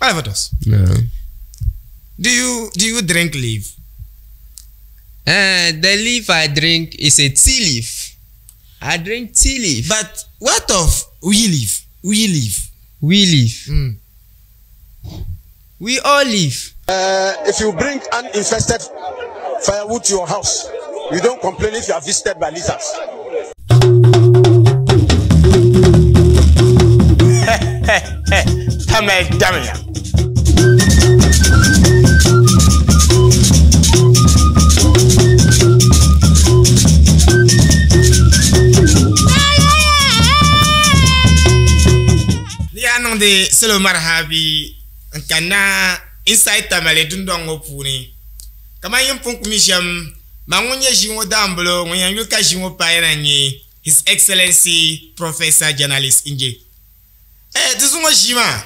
Palafotos. No. Do you do you drink leaf? The leaf I drink is a tea leaf. I drink tea leaf. But what of we leaf? We leaf. We leaf. Mm. We all leaf. If you bring uninfested firewood to your house, you don't complain if you are visited by lizards. Tamale damya. Ni yaa niŋdi salo marhabi n kanna inside Tamale dundɔŋ ŋɔ puuni. Kamani yin pun ku mi shɛm, man ŋun nyɛ ʒii ŋɔ daambulo ŋun yɛn yuli ka ʒii ŋɔ paai na n-nyɛ His Excellency Professor Journalist Nje. Eh, di zuŋɔ ʒii maa,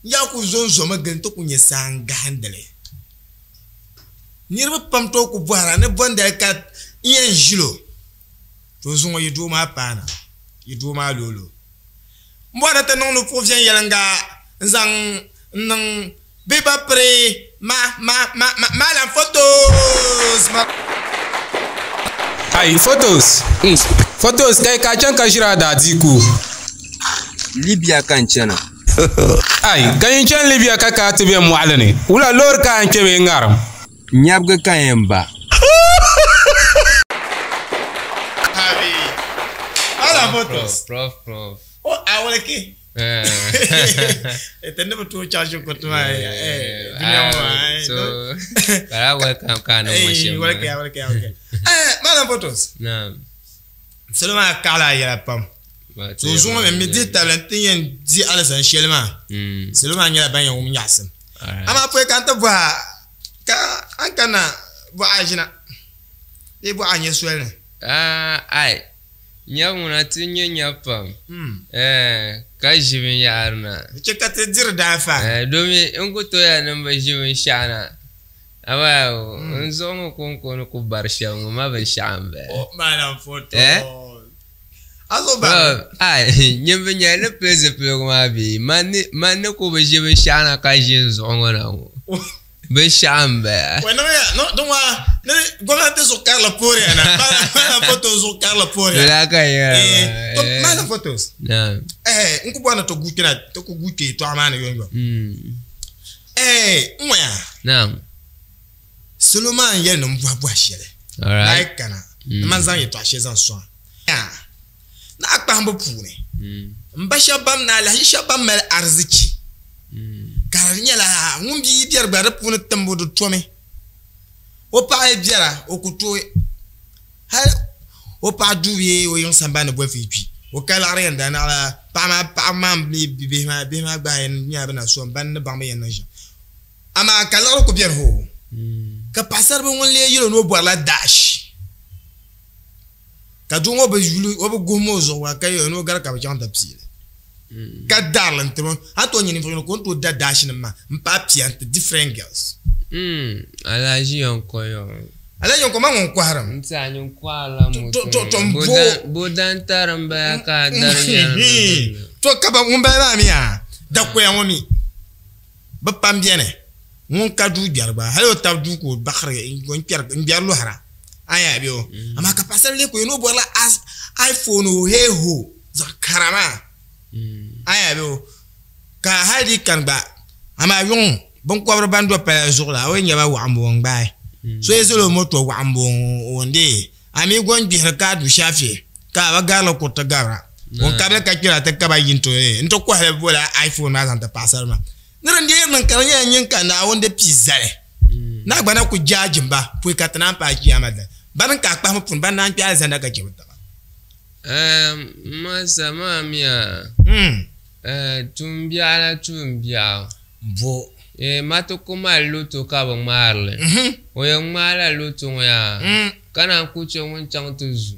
n yaa ku zo n-zomi gili nti ku nyɛ saa n-gahindili. Niriba pam tooi ku bɔhira ni bɔndali ka n yɛn ʒil o. To zuŋɔ yi doo maa paana, yi doo maa looli o. M bɔri ni ti niŋ nupuɣu viɛnyɛliŋga n-zaŋ n-niŋ bɛ ba piri ma, ma, ma, ma, Malam Photos! Ma. Ai, Photos! Mm. Photos, kai ka chaŋ ka ʒiri a daadiiku? Libya ka n chana. Ai, ka yin chani Libya ka ka ti be mɔɣili ni, wula loori ka a yɛn kpe bee ŋarim? Nyabigi ka n yɛn ba. Abi, Malam Photos. Prof, prof. O, awalki. Ita ni bi tooi chaŋ shikuru maa eh, dunia ŋɔ maa, eh, So, bara welcome ka ni ŋɔ shɛm. Welcome, welcome, welcome. Eh, Malam Photos. Naam. Salo maa kaɣila a yɛla pam. So zuŋɔ mi mi dihi tabili n ti yɛn di alizani shɛli maa. Salo maa nyɛla ban yɛn wum nyaɣisim. Amaa pɔi ka n ti bɔhi a ka a ni kanna bɔɣa ʒina bee bɔɣa nyɛ soli ni? Ai, Nyabu ŋuna ti nyɛ nyabu pam, eh, ka ʒi binyahari na. Di chɛ ka ti diri daanfa. Eh, domi n ku tooi ya ni m bi ʒi binshɛɣu na. Amaa n zuɣu ŋɔ kɔŋko ni ku bari shɛm ŋɔ ma binshɛɣu m-bala. O, Malam Foto. Eh? A zuɣu bari mi. Ai, nyin bi nyɛli ni pili zipiligu maa bee? Man ni, man ni ku bi ʒi binshɛɣu na ka ʒi n zuɣu ŋɔ na ŋɔ. Binshɛɣu m-bala. Wai niŋ ya no din waa ni gomnanti zuɣu karili pooriya na Malam Photos zuɣu karili pooriya. Lala ka yɛra maa. To Malam Photos. Naam. Eh n ku bɔri ni ti guui kpɛna ti ku guui kpɛ yɛltɔɣa maa ni yomyom. Eh n ŋɔya. Naam. Salo maa n yɛli ni n bɔhi bɔhi shɛli. Alright. Ni a yi kana ni man zaŋ yɛltɔɣa shɛli zaŋ sɔŋ a. Ni a kpahimbu puuni m ba shɛba ban ni alahichi shɛba ban mali arizichi ka di nyɛla ŋun bia yi biɛri gba di puuni timbu di tomi. O paɣa yi biɛra o ku tooi hali o paɣa duu bee o yiŋ sambani ni bolifu yi kpi o ka liɣiri yɛn daa naɣila paɣa maa paɣaba maa mi bihi maa bihi maa gba yɛn nyɛla bɛ na so m ban ni baŋ bɛ yɛn niŋ shɛm amaa ka liɣiri ku beni hoo ka paɣasaribili ŋun lee yɛl o ni o bɔrila daashi. Ka doo ŋɔ bi yuli, o bi guhim o zuɣu gba ka yɛli ni o gari ka bɛ chaŋ ti pii li. Ka dari li n-tiri o. A ni tooi nya ninvuɣ yino ka o ni tooi da daashinim maa m-paai pia n-ti different girls. Alhaji Yonko yɔ. Alhaji Yonko ma ŋun kɔhirim. N ti a nyin kɔhirila moto To, to, ŋɔ. m bo. Bo dan tari m-bala ka a dari yɛri ni di na. To ka ba ŋun bala maa mi yaa, dakoya ŋɔ mi bi pam beni. Ŋun ka duu gbɛri gba, hali o tab duu ka o baxiri n-gbɛri lɔhira. A nya bɛ o? Amaa ka paɣasarili lee ku yɛn o bɔrila iPhone o hee ho zaɣ kara maa. A nya bɛ o? Ka hali di kani gba, amaa yuŋ binkɔbiri ban do pala zuɣu la, a o yi nya ba waɣimbu o n-gbaai. So yi zali o moto waɣimbu o n-deei, a mi go n-gbihiri ka a du shaafi ka a bi garili kuriti gabira. Ŋun kabili ka kpɛra ti kaba yi nti kɔhili bola iPhone maa zaŋ ti paɣasarili maa. Ni din deei niŋ ka di nyɛla nyin ka Naawuni di pii zali. Naa gba na ku jaaji ba pɔi ka ti naan paai Chiyaama dali. Bani n-ka a kpahimi puuni, ban naan kpe alizanda ka chɛ bɛ taba. Ehm, masa maa mi a, eh, tuumbiɛɣu la tuumbiɛɣu. Bo. Eh, ma ti ku mali loto ka bi ŋmaari li. O yɛn ŋmaala loto ŋɔ yaa, ka naan ku chɛ ŋun chaŋ ti zu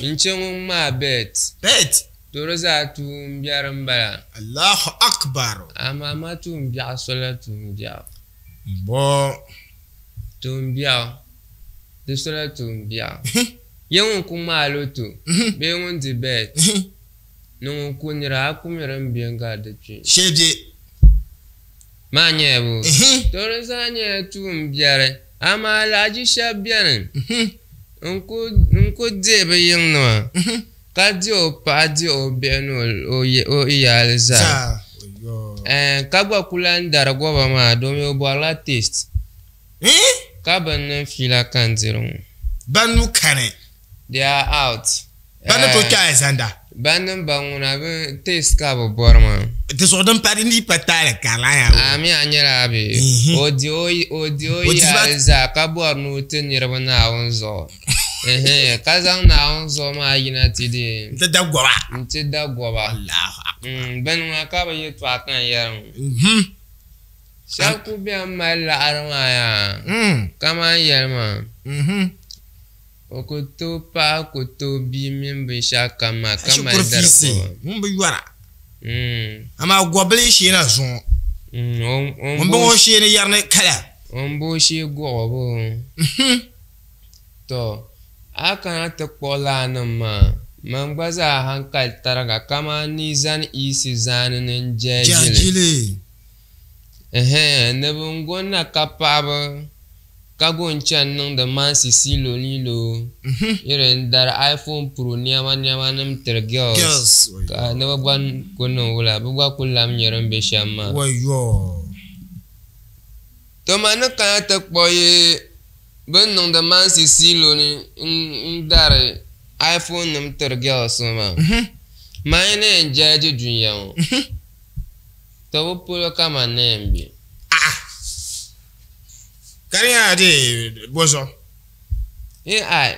n-chɛ ŋun ŋmaai bet. Bet. To di zaa tuumbiɛri m-bala. Allahu Akbar. Amaa ma tuumbiɛɣu sola tuumbiɛɣu. Bo. Tuumbiɛɣu, di sola tuumbiɛɣu. Ye ŋun ku ŋmaai loto bee ŋun di bet ni ŋun ku nira, a ku mi din be n-gari di kpee. Shee be. Maa nyɛla bo? To di zaa nyɛla tuun biɛri, amaa alahichi shɛba beni n-ku dihi bɛ yiŋnima, ka dihi o paɣa, dihi o bihi ni o iyaali zaa. Ka gba ku lan dari goba maa domi o bɔrila taste, ka bɛ niŋ fiila ka n diri ŋɔ. Ban nuu kani. They are out. Ban ni tooi kpe alizanda. Ban niŋ ba ŋuna bɛ taste ka bɛ bɔri maa. Di zuɣu din pa di ni pa taali karili a yaa. A mi a nyɛla a bee? O di o o di o yaali zaa ka bɔri ni o ti niriba Naawuni zuɣu. Ka zaŋ Naawuni zuɣu maa yina ti di. N-ti da goba. N-ti da goba. Allahu akbar. Bini ŋuna ka bɛ yɛltɔɣa ka n yɛri ŋɔ. Shɛba kuli beni mali laɣiri maa yaa kaman yɛli maa. O ku tooi paɣa ku tooi bia mini binshɛɣu kam maa ka mali Shikuru dari fiisi kɔba. ŋun bi yɔra. Amaa gɔbili yi sheena zuŋɔ. Ŋun bɔŋɔ o sheeni yɛri ni kala. O ni bo o shee gɔɣi o boo. Tɔ! A kana ti kpuɣi laanim maa, man gba zaa hankali tariga kaman ni yi zani iisi zaani ni n-jɛhi ʒili. Jɛhi Ɛhɛn, ni bɛ ni go na ka paɣiba ka go n-chani niŋdi mansi siilo liilo yiri n-dari iPhone Pro nɛma nɛma nim tiri girls ka ni bɛ gba ku niŋ wula bɛ gba ku lam nyɛ din be shɛm maa. To ma ni kana ti kpuɣi yi bɛ ni niŋdi mansi siilo ni n-dari iPhone nim tiri girls ŋɔ maa, man yi ni yɛn jɛliji dunia ŋɔ. To bi polo ka man na yɛn be. A'a! Ka di nyɛla di bɔ zuɣu? Ai,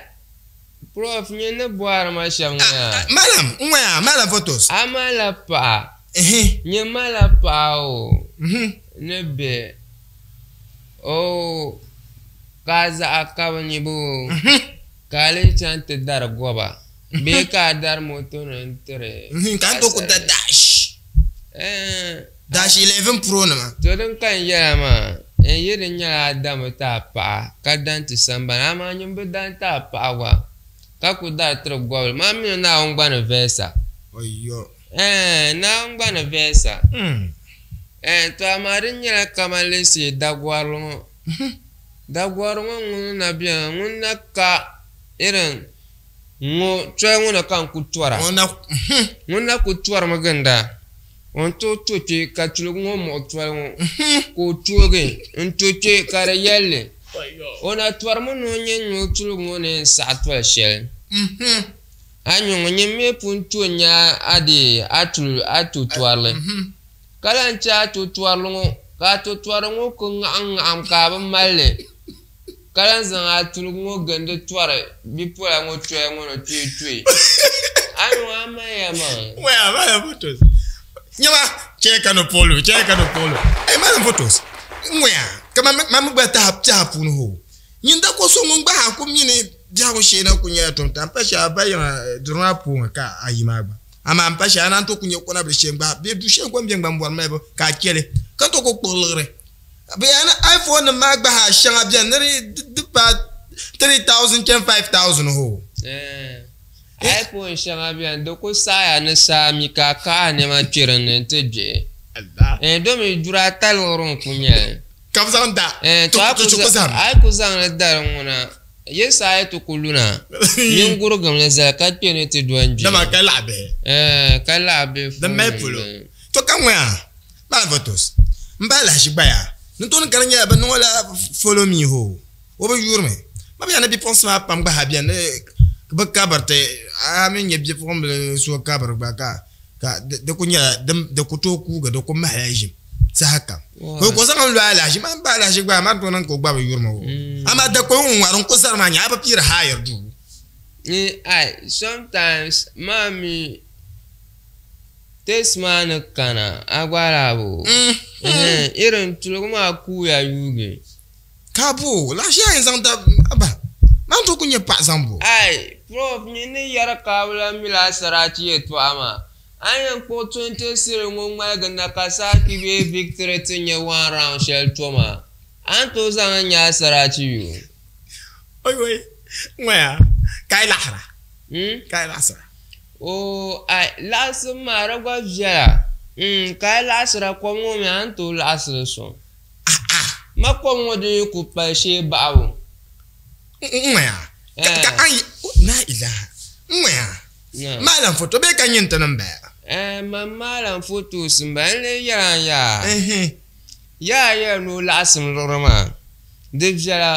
Prof, nyini ni bɔhiri ma shɛm ŋɔ yaa. Malam, n ŋɔ yaa, malam photos. A malila paɣa? Nyini malila paɣa o ni bihi o ka a zaɣa ka bi nya ba o ka a lee chaŋ ti dari goba bee ka a dari moto ni n-tiri Ka n tooi ku da dash. Dash 11 Pro nima. To din ka n yɛla maa, n yi di nyɛla a dami ti a paɣa ka dan ti sambani, amaa nyin bi dan ti a paɣa gba ka ku dari tiri gobili, man mi ni Naawuni gba ni vɛɛsa. Naawuni gba ni vɛɛsa. To amaa din nyɛla kaman leesi dagɔrili ŋɔ. Dagɔrili ŋɔ ŋuni na beni, ŋun na ka irin Ŋɔ toli ŋɔ na ka n ku tɔra. Ŋun na ku tɔrimi ginda, o ni tooi to kpe ka tuligu ŋɔ muɣi toli ŋɔ ka o toogi n-to kpe ka di yɛli li. O na tɔrimi ni o nya n-nya o tuligu ŋɔ ni yɛn saɣi toli shɛli. A nya ŋɔ nyin mi pun to n-nya a dee a tuli a to tɔrili ka lahi che a to tɔrili ŋɔ ka a to tɔrili ŋɔ ku ŋaɣim ŋaɣim ka a bi mali li. Ka lan zaŋ a tuligu ŋɔ gindi tɔri bipola ŋɔ choya ŋɔ ni tuitui. A ni ŋɔ a maliya maa. Waya malam photos. Nyama chɛ ka no polo, chɛ ka no polo. Ay malam photos. Ŋwaya ka ma ma mi gba taha taha puuni ho. Nyin da ko so ŋun gba ha ku mini biɛhigu shee na ku nyɛla tom ta. M pa shɛli a ba yiŋa duri maa puuni ka a yi maa gba. Amaa m pa shɛli a naan tooi ku nyɛ kɔna bili shee n-gba bee du shee n-ko m-be n-gba m-bɔri malibu ka a chɛ li ka n tooi ku kpuɣi liɣiri. Bɛ yɛli ni iPhone nim maa gba ha shɛŋa bɛni ni di paai 3000 chani 5000 hoo. iPhone shɛŋa bɛni di ku saɣiya ni saa mi ka a kahi a nɛma kpe din ni nti gbihi. Domi duri ata liɣiri n-ku nyɛ li. Ka bɛ zaŋ da ti ku zahim. A yi ku zaŋ li da di ŋuna, yi saa yi ti ku luna, nyin gurigim li zali ka kpe ni ti do n-gbihi. Dama ka laɣi bihi. Ka laɣi bihi Di mali polo. To ka ŋɔya. Malam Photos M bahi lahiʒi gbaya ni tooni ka di nyɛla bɛ niŋ o la follow me hoo o bi yuri mi ma bɛ ni bipuɣinsi maa pam gba ha beni bɛ kabiriti a mi nyɛ bipuɣimbila so kabiri gba ka ka di ku nyɛla di ku tooi kuugi di ku mahila ʒim saha kam ka o zaŋ n lo alahiʒi maa m bahi lahiʒi gba maa di tooi niŋ ka o gba bi yuri ma o amaa dakoli ŋun ŋmari n ku zari maa nya a bi piiri hayiri duu. Sometimes maa mi Test maa ni kana a gba lahi bo irin tuligu maa kuuya yuugi. Ka bo laɣ shɛli a yɛn zaŋ da aba maa n tooi ku nyɛ paɣa zaŋ bo. Ai prof nyin ni yɛri ka a bi lahi mila a sarati yɛltɔɣa maa a ni yɛn kpuɣi 20 series ŋɔ ŋmaligi na ka saaki bee victory ti nyɛ one round shɛli to maa a ni tooi zaŋ li nya a sarati yoo. Oi oi ŋɔya ka a yi laɣisira ka a yi laɣisira. Oo, ai, laɣisim maa di gba viɛla. Ka a laɣisira kom ŋɔ mi a ni tooi laɣisi li sɔŋ. Ma kom ŋɔ din yi ku pali shee baɣibu. N-ŋmaya ka a yi la ilaha n-ŋmaya maalam foto bee ka nyini ti ni m-bala? Ɛɛh man maalam fotos m-bala n lee yɛli a yaa. Yaa yɛli ni o laɣisim liɣiri maa di viɛla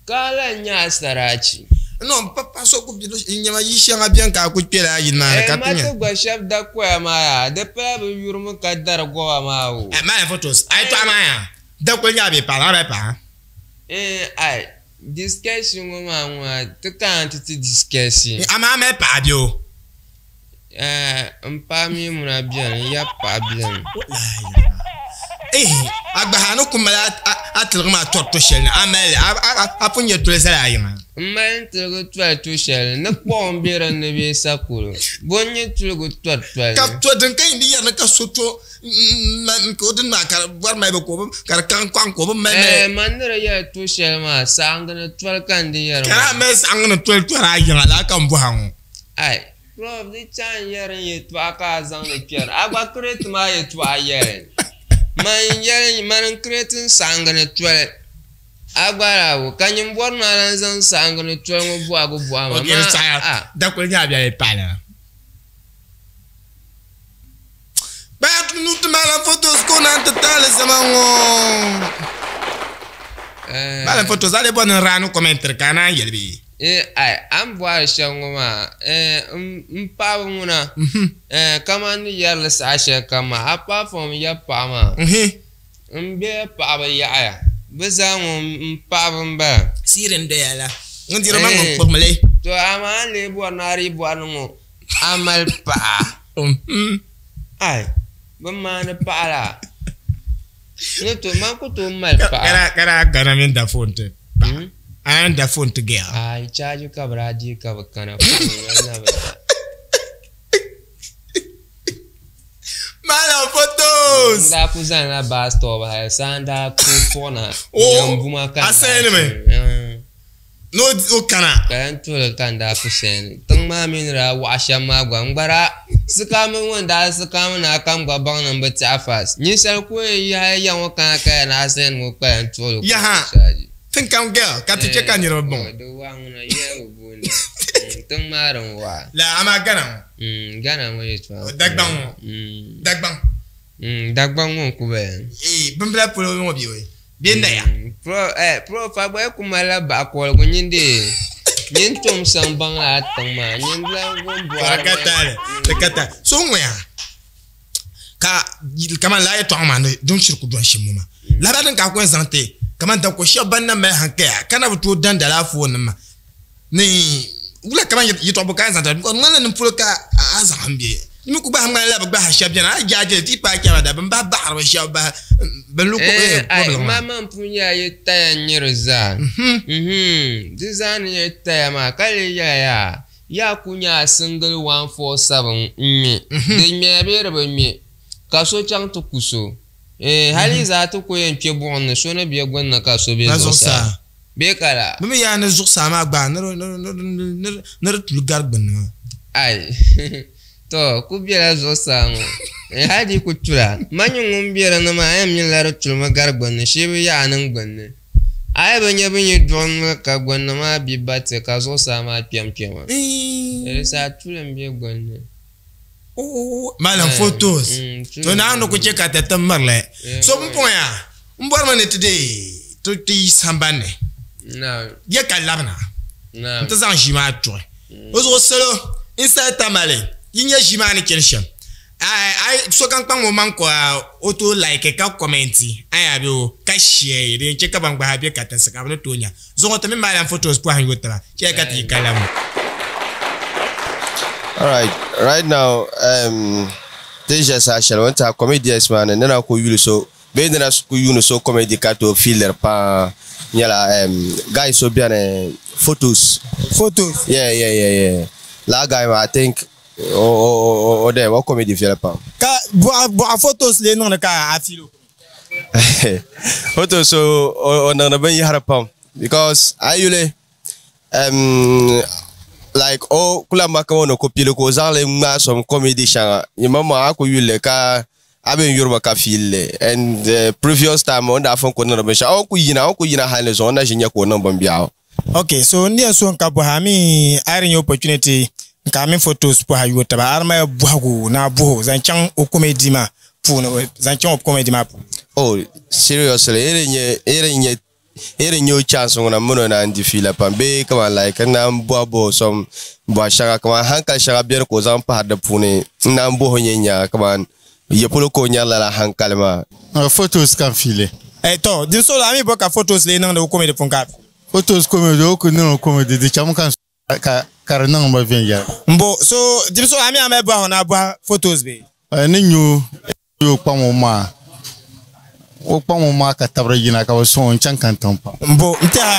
ka a lahi nya a saraachi. No m-pa paɣa so ku nyɛma yi shɛŋa beni ka a ku kpela a yili maa ni ka ti nya. Ma ti gba shɛba dakoya maa yaa di pala bɛ yurimi ka dari goba maa o. Maalam fotos a yɛtɔɣa maa yaa dakoli nyɛla bɛ paɣa la a bɛ paɣa. Ɛɛn ai discussion ŋɔ maa ŋɔ a ti kana ti ti discussion. Amaa a mali paɣa bɛ o? Ɛɛn m paɣa mi ŋuna beni n yab paɣa beni. Ehe a gba a ni ku mali a tiligi maa tɔri to shɛli ni a mali li a pun nyɛ toli zali a yiŋa. M mali n tiligi toli to shɛli ni kpuɣi m be din ni bee sakoro bo n-nyɛ tiligi tɔri toli. Ka to din ka yin di yɛri ni ka so to ka o dini maa ka di bɔri malibu ka o bi ka di kaŋ kɔŋ ka o bi mali mali. Ɛɛ man ni di yɛli to shɛli maa saɣiŋgi ni toli ka n di yɛri maa. Ka a mali saɣiŋgi ni toli tɔri a yiŋa lala ka m bɔha ŋɔ. Ai Prof di chaŋ yɛri n yɛltɔɣa ka a zaŋdi kpɛri a gba kireti maa yɛltɔɣa yɛli man yɛli mani n kireti n saɣiŋgi ni toli a gba daa bo ka nyin bɔri ni a lan zaŋ saɣiŋgi ni toli ŋɔ bɔhigu bɔhi ma Ok, di maa saɣiya a. Dakuli nyɛla biɛli paɣila. Kpaya ti nu ti maalam photos ka o naan ti taali zama ŋɔ. Maalam photos a lee bɔri ni n raani commentary ka a naan yɛli bee? Eh, ai, a ni bɔhiri shɛm ŋɔ maa, eh, m paɣaba ŋuna, eh, kaman ni yɛri li saha shɛli kam maa, apart from ya paɣa maa, m be paɣaba yaɣiya, bɛ zaa ŋɔ m paɣaba m-bala. Siiri n-doya la, ŋun diri maŋ ŋun kpuɣimi li. To amaa a ni lee bɔri ni a dii bɔri ni ŋɔ a mali paɣa. Ai, bɛ maani paɣa la. Ni to, man ku tooi mali paɣa. Ka daa kana mini da foon ti paɣa. A naan da foon ti girl. Ai, chaaji ka bɛ daa deei ka bɛ kana, foon ŋɔ na bi da. Malam photos. N daa ku zanila bus stop hali saa n daa ku puɣina Nyambuma ka n daa Asɛnimi. Ni o kana. Ka lan tuhili ka n daa ku sɛni. Tiŋ maa mi ni daa waɣa shɛm maa gba, n gba daa sikaami ŋun daa sikaami ni a kam gba baŋ ni m bi tɛha fast. Ninsal ku yɛn yi hali ya ŋɔ kana ka ya ni a sɛni ŋɔ kpa lan tuhili ka o chaaji. Tiŋ kam girl ka ti chɛ ka niriba baŋ o. Di waɣa ŋuna yɛli bi booni tiŋ maa din waɣa. La amaa Ghana ŋɔ. Ghana ŋɔ yɛltɔɣa. Dagbaŋ ŋɔ. Dagbaŋ. Dagbaŋ ŋɔ n-ku bala. Bimbila polo ŋɔ bɛ o. Bɛ naya. Prof a gba yi ku malila baɣakoligu nyin dee nyin tom saŋ baŋ lala tiŋ maa nyin lan ŋun bɔhiri Di ka taali, di ka taali. So ŋɔya ka kaman lala yɛtɔɣa maa ni din shiri ku dɔni shɛm ŋɔ maa. Lahabali din ka a ku yɛn zaŋ ti kaman dako shɛba ban na mali hankaya ka na bi tooi dandi alaafoo nima maa ni wula kaman yɛtɔɣa bɔ ka a yɛn zaŋ ti ba? Di ŋmanila nin polo ka a zaŋ m be. Di mi ku gbahi ŋmanila bɛ gbahi shɛba bɛni a yi jaai jeli ti yi paai kpɛma da bɛ ni bahi baɣiri bɛ shɛba bahi bɛ lu kɔbiligi maa. Mama pun nyɛla yi taya n-nyɛ di zaa. Di zaa ni nyɛ taya maa ka lee yɛla yaa, yaa ku nyɛ a single 147 n-ŋme. Di ŋmɛya bee di bi ŋme ka so chaŋ ti ku so. Hali yi zaa ti ku yɛn kpe buɣim ni so ni be gbunni ka so be zuɣusaa. Bee ka la? Bɛ mi yaa ni zuɣusaa maa gbaai ni di tuli gari gbunni maa. Ai! Tɔ! Ku bela zuɣusaa ŋɔ. Hali di yi ku tula, man nyini ŋun be di ni maa, a yɛn mi la di tulimi gari gbunni, shee bi yaai niŋ gbunni. A yi bi nya bɛ ni duɣi noli ka gbunni maa bi ba ti ka zuɣusaa maa kpɛm kpɛma. Di saha tuli m-be gbunni. Malam photos to Naawuni ni ku chɛ ka ti ti mirili. So pumpɔŋɔ yaa m bɔrimi ni ti deei ti yi samban ni ya ka labina nti zaŋ ʒii maa tuɣi o zuɣu salo inside Tamale yi nya ʒii maa ni chani shɛm sokam kpaŋmi o maŋ ka o tooi like ka commenti a yaa bɛ o ka share din yɛn chɛ ka ban gba be katinsi ka bɛ ni tooi nya Zuŋɔ ti mini Malam photos pɔhim yo taba chɛya ka ti yi ka labi. Alright, right now um, ti ʒe saha shɛli o ni tiɛha comedians maa ni ni na ku yuli so bee ni na ku yuuni so comedy ka tooi fiiliri paa nyɛla um, guy so beni photos. Photos? Yeah, yeah, yeah, yeah. Laa guy maa I think o o o o dem o comedy viɛli pam. Ka bɔɣa bɔɣa photos lee niŋdi ka a fiili o? Photos o niŋdi binyahari pam because a yi yuli um, Like o kula maka ŋɔ ni ku pili ka o zaŋli ŋmaai some comedy shɛŋa yimaŋmaŋ a ku yuli ka a bɛ yurimi ka fiili and the previous time o ni daa fun ku niŋdi binshɛɣu o ku yina o ku yina hali ni zuɣu o na ʒi nya ka o niŋ binbiɛɣu. Okay, so n yɛn so n ka bɔha mi a di nyɛ opportunity n ka mi photos bɔha yo taba a di mali bɔhigu na bɔho zaŋ chaŋ o comedy maa puuni zaŋ chaŋ o comedy maa puuni. Oh, seriously, iri nyɛ o chance ŋuna mini o naan di fiila pam bee kaman like n naan bɔhi bɔhi some bɔha shɛŋa kaman hankali shɛŋa beni ka o zaŋ pahiri di puuni n naan bɔhi o nyɛ nya kaman ya polo ka o nyari lala hankali maa. Photos ka n fiili. Eh, to din so a mi bɔ ka photos lee niŋdi o comedy puuni ka Photos comedy o ku niŋ o comedy di chami ka ka ka di niŋ ma viɛnyɛla. Mbo so din so a mi a mali bɔhigu na bɔhi photos bee? Ni nyu o kpaŋ o maa o kpaŋ o maa ka tabiri yina ka bi sɔŋ o n chaŋ kantiŋ pam. Mbo n tɛha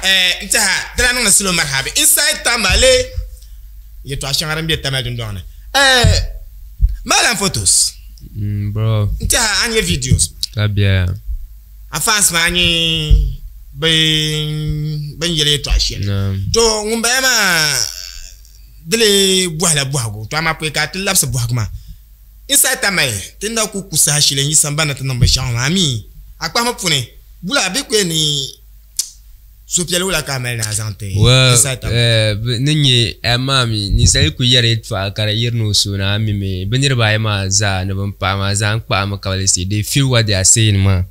eh n tɛha di daa niŋdi salo marhabi inside Tamale yɛltɔɣa shɛŋa din be Tamale dundɔŋ ni eh Malam photos. Bro. N tɛha a nyɛ videos. Ka biɛya. A fans maa nyɛ bin yɛli yɛltɔɣa shɛli. To ŋun bala maa dili bɔhila bɔhigu to amaa pɔi ka ti labisi bɔhigu maa inside Tamale ti na ku ku saha shɛli n yi sambani ti niŋ binshɛɣu maa mi a kpahimi puuni wula bɛ ku yɛn ni suhupiɛlli wula ka a mali ni a zaŋ ti inside Tamale. Ni nyɛ amaa mi ninsali ku yɛri yɛltɔɣa ka di yirina o suhu ni a mi mi bɛ niriba ayi maa zaa ni bin paɣa maa zaa n kpahimi ka bi say they feel what they are saying maa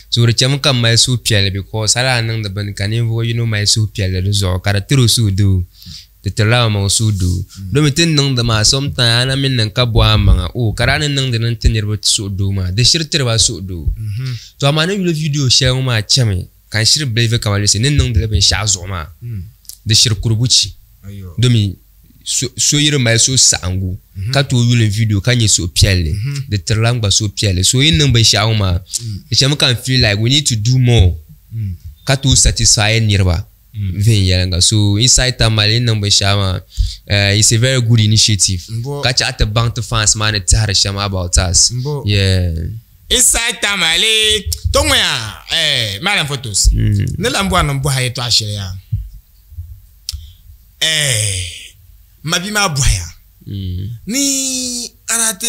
so di chɛmi ka m mali suhupiɛlli because hali a niŋdi bini ka ninvuɣu yino mali suhupiɛlli di zuɣu ka di tiri o suhudoo di tirila amaŋ suhudoo domi ti ni niŋdi maa sometimes a na mi niŋ ka bɔhi amaŋa oh ka daa ni niŋdi ni ti niriba suhudoo maa di shiri tiriba suhudoo to amaa ni yuli video shɛli ŋɔ maa chɛmi ka n shiri believe kamani lesi ni niŋdili binshɛɣu zuɣu maa di shiri kuri buchi domi so yi di mali suhusaɣingu ka tooi yuli video ka nyɛ suhupiɛlli di tirila n gba suhupiɛlli so yi niŋ binshɛɣu ŋɔ maa di chɛmi ka n feel like we need to do more ka tooi satisfy niriba viɛnyɛlinga so inside Tamale yi niŋ binshɛɣu maa it's a very good initiative ka chaɣ ti baŋ ti fans maa ni tɛhiri shɛm about us yeah. Inside Tamale to ŋɔya eh, Malam photos ni lan bɔri ni n bɔhi a yɛtɔɣa shɛli yaa eh, ma bia maa bɔhiya ni a daa ti